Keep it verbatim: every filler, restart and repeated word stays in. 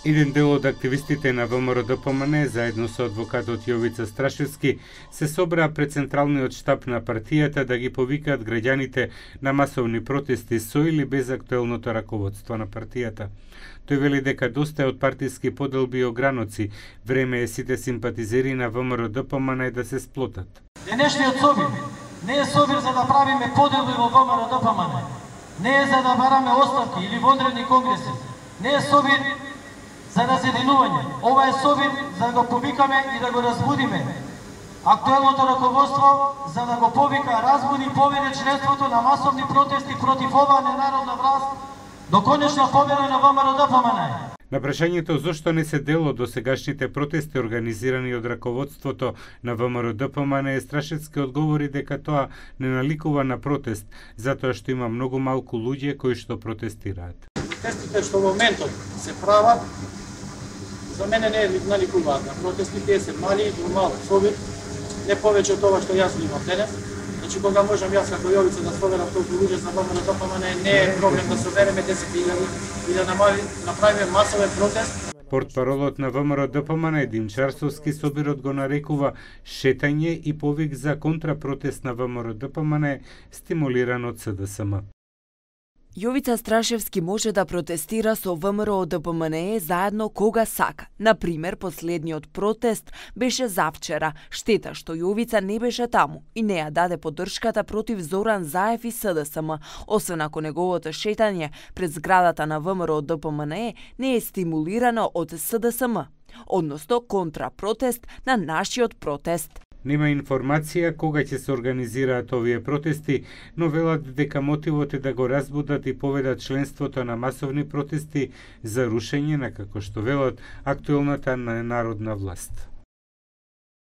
Еден дел од активистите на ВМРО-ДПМН заедно со адвокатот Јовица Страшевски се собраа пред централниот штаб на партијата да ги повикаат граѓаните на масовни протести со или без актуелното раководство на партијата. Тој вели дека доста е од партиски поделби и ограноци, време е сите симпатизери на ВМРО-ДПМН да се сплотат. Денешниот собир не е собир за да правиме поделби во ВМРО-ДПМН, не е за да бараме оставки или вонредни конгреси, не е собир за разединување. Ова е собир за да го повикаме и да го разбудиме актуелното раководство, за да го повика, разбуди и поведе членството на масовни протести против оваа ненародна власт до конечна победа на ВМРО-ДПМН. На прашањето зошто не се дел од досегашните протести организирани од раководството на ВМРО-ДПМН, Страшевски одговори дека тоа не наликува на протест, затоа што има многу малку луѓе кои што протестираат. Протестите што во моментот се прават, за мене не наликуваат на протести, тие се мали и мал собир, не повеќе од тоа што јас имам денес. Значи, кога можам јас како Јовица да соберам толку луѓе за ВМРО-ДПМН, не е проблем да собереме десет илјади и да направиме масовен протест. Портпаролот на ВМРО-ДПМН Дим Чарсовски собирот го нарекува шетање и повик за контрапротест на ВМРО-ДПМН стимулиран од СДСМ. Јовица Страшевски може да протестира со ВМРО-ДПМН заедно кога сака. Например, последниот протест беше завчера. Штета што Јовица не беше таму и не ја даде поддршката против Зоран Заев и СДСМ, освен ако неговото шетање пред зградата на ВМРО-ДПМН не е стимулирано од СДСМ, односно контрапротест на нашиот протест. Нема информација кога ќе се организираат овие протести, но велат дека мотивот е да го разбудат и поведат членството на масовни протести за рушење на, како што велат, актуелната народна власт.